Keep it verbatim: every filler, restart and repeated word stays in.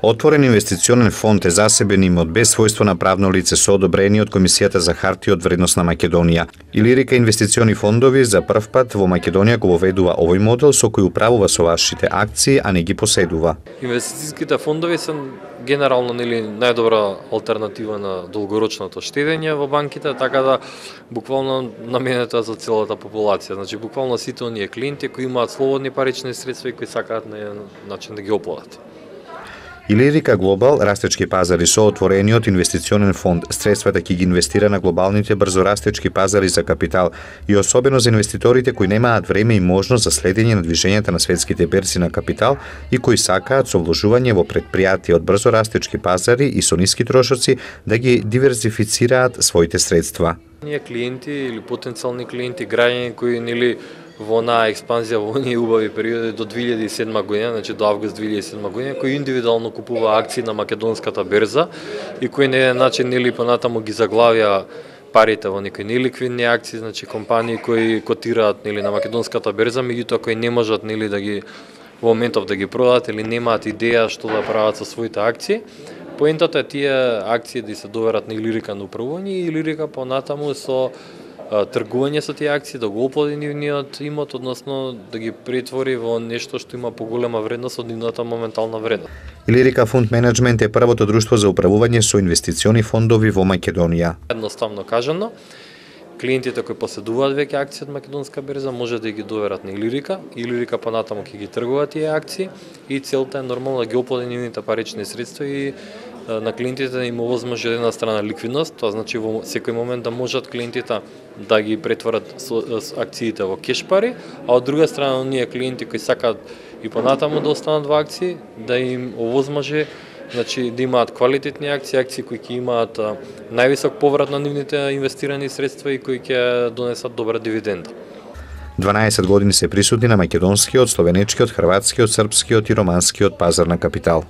Отворен инвестиционен фонд е засебен имот без својство на правно лице со одобрение од Комисијата за хартии од вредност на Македонија. Илирика инвестициони фондови за прв пат во Македонија го воведува овој модел со кој управува со вашите акции, а не ги поседува. Инвестицијските фондови се генерално нели најдобра алтернатива на долгорочното штедење во банките, така да буквално наменета за целата популација. Значи буквално сите оние клиенти кои имаат слободни парични средства и кои сакаат на еден начин да ги оплатат. Илирика Глобал, растечки пазари со отворениот инвестиционен фонд, средствата ќе ги инвестира на глобалните брзорастечки пазари за капитал и особено за инвеститорите кои немаат време и можност за следење на движењата на светските берзи на капитал и кои сакаат со вложување во претпријатија од брзорастечки пазари и со ниски трошоци да ги диверзифицираат своите средства. Ние клиенти или потенцијални клиенти, граѓани кои нели во онаа експанзија во оние убави периоди до две илјади и седма година, значи до август две илјади и седма година, кои индивидуално купува акции на македонската берза и кои на еден начин нели понатаму ги заглавија парите во некои неликвидни акции, значи компании кои котираат нели на македонската берза, меѓутоа кои не можат нели да ги во моментов да ги продадат или немаат идеја што да прават со своите акции. Поентата е тие акции да се доверат на Илирика на управување и Илирика понатаму со тргување со тие акции, да го оплоди нивниот имот, односно да ги претвори во нешто што има поголема вредност од нивната моментална вредност. Илирика Фонд Менеджмент е првото друштво за управување со инвестициони фондови во Македонија. Едноставно кажано, клиентите кои поседуваат веќе акции од македонска берза може да ги доверат на Илирика, Илирика понатаму ќе ги тргува тие акции и целта е нормално да ги оплоди нивните парични средства и на клиентите да им овозможи една страна ликвидност, тоа значи во секој момент да можат клиентите да ги претворат акциите во кеш пари, а од друга страна оние клиенти кои сакаат и понатаму да останат во акции, да им овозможи значи да имаат квалитетни акции, акции кои ќе имаат највисок поврат на нивните инвестирани средства и кои ќе донесат добра дивиденда. дванаесет години се присутни на македонскиот, словенечкиот, хрватскиот, српскиот и романскиот пазар на капитал.